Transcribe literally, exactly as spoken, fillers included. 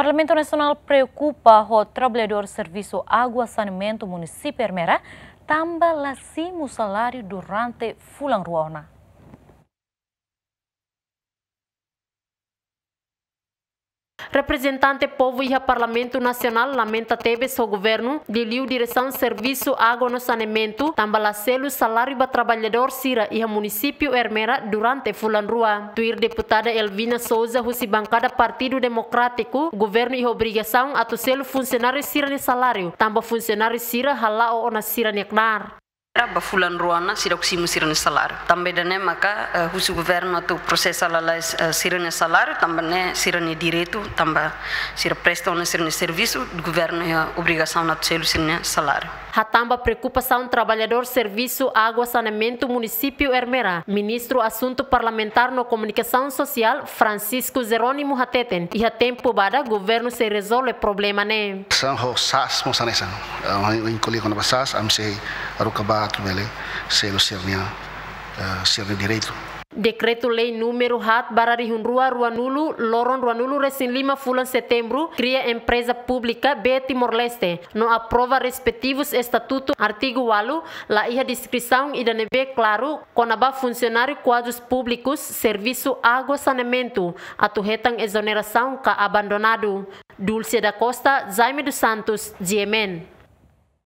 Parlamentu Nasionál preokupa ho traballadór servisu água saneamentu munisípiu Ermera tanba la simu saláriu durante fulan rua ona. Reprezentante povu iha Parlamentu Nasionál lamenta tebes ho governu, liuliu diresaun servisu água no saneamentu, tanba la selu saláriu ba traballadór sira iha munisípiu Ermera durante fulan rua. Tuir deputada Elvina Souza husi bankada Partidu Demokrátiku, governu iha obrigasaun atu selu funsionáriu sira-nia saláriu, tanba funsionáriu sira hala'o ona sira-nia knaar. Ba fulan rua ona seidauk simu sira-nia saláriu. Tanba ida-ne'e maka, eh, husu governu atu prosesa lalais, eh, sira-nia saláriu, tanba ne'e sira-nia direitu, tanba sira presta ona sira-nia servisu, governu iha obrigasaun atu selu sira-nia saláriu. Hatán ba preokupasaun traballadór servisu água saneamentu munisípiu Ermera, Ministru Asuntu Parlamentár no Komunikasaun Sosiál, Francisco Jerónimo hateten, iha tempu badak governu sei rezolve problema ne'e. São ho sas mo sanesa. Ah, em, em colher quando passas, am sei aruka ba atu bele selu sira-nia, eh, sira-nia direitu. Dekretu-Lei númeru haat barra rihun rua ruanulu, loron ruanulu resin lima fulan Setembru, kria empreza públika B Timor-Leste, no aprova respetivus estatutu, artigu ualu, la iha deskrisaun ida ne'ebé klaru kona-ba funsionáriu kuadrus públikus servisu água saneamentu atu hetan ezonerasaun ka abandonadu. Dulce da Costa, Jaime dos Santos, G M N.